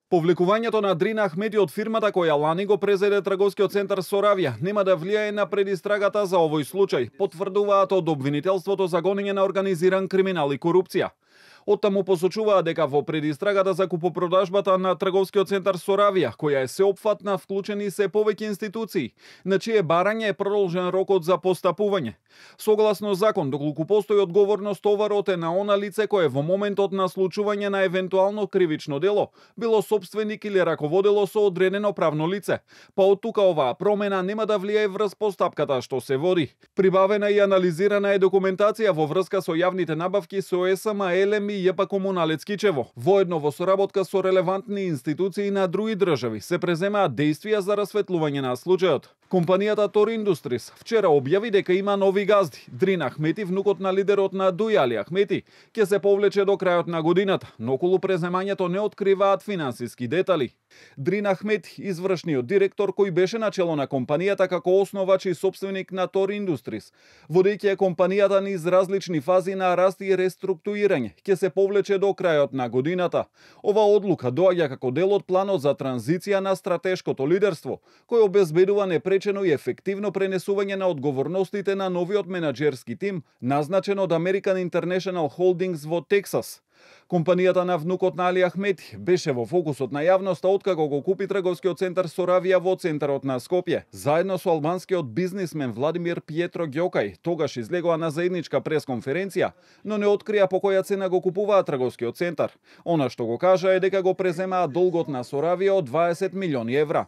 Повлекувањето на Дрина Ахмети од фирмата која лани го презеде трговскиот центар Соравија нема да влијае на предистрагата за овој случај, потврдуваат од обвинителството за гонење на организиран криминал и корупција. Оттаму посочуваат дека во предистрагата за купопродажбата на трговскиот центар Соравија, која е сеопфатна, вклучени се повеќе институции, на чие барање е продолжен рокот за постапување. Согласно закон, доколку постои одговорност, товарот е на она лице кое во моментот на случување на евентуално кривично дело било сопственик или раководело со одредено правно лице. Па од тука оваа промена нема да влијае врз постапката што се води. Прибавена и анализирана е документација во врска со јавните набавки со ЕСМ, ЕЛЕМ и ЈП Комуналец Кичево. Воедно во соработка со релевантни институции на други држави се преземаат действија за расветлување на случајот. Компанијата Тор Индустрис вчера објави дека има нови газди. Дрин Ахмети, внукот на лидерот на ДУИ Али Ахмети, ќе се повлече до крајот на годината, но околу преземањето не откриваат финансиски детали. Дрин Ахмети, извршниот директор кој беше начело на компанијата како основач и сопственик на Тор Индустрис, водејќи компанијата низ различни фази на раст и реструктурирање, ќе се повлече до крајот на годината. Ова одлука доаѓа како дел од планот за транзиција на стратешкото лидерство, кој обезбедува непречено и ефективно пренесување на одговорностите на новиот менаџерски тим, назначен од American International Holdings во Тексас. Компанијата на внукот на Али Ахмети беше во фокусот на јавноста откако го купи трговскиот центар Соравија во центарот на Скопје. Заедно со албанскиот бизнисмен Владимир Пиетро Ѓокај тогаш излегоа на заедничка пресконференција, но не открија по која цена го купуваат трговскиот центар. Она што го кажа е дека го преземаат долгот на Соравија од 20 милиони евра.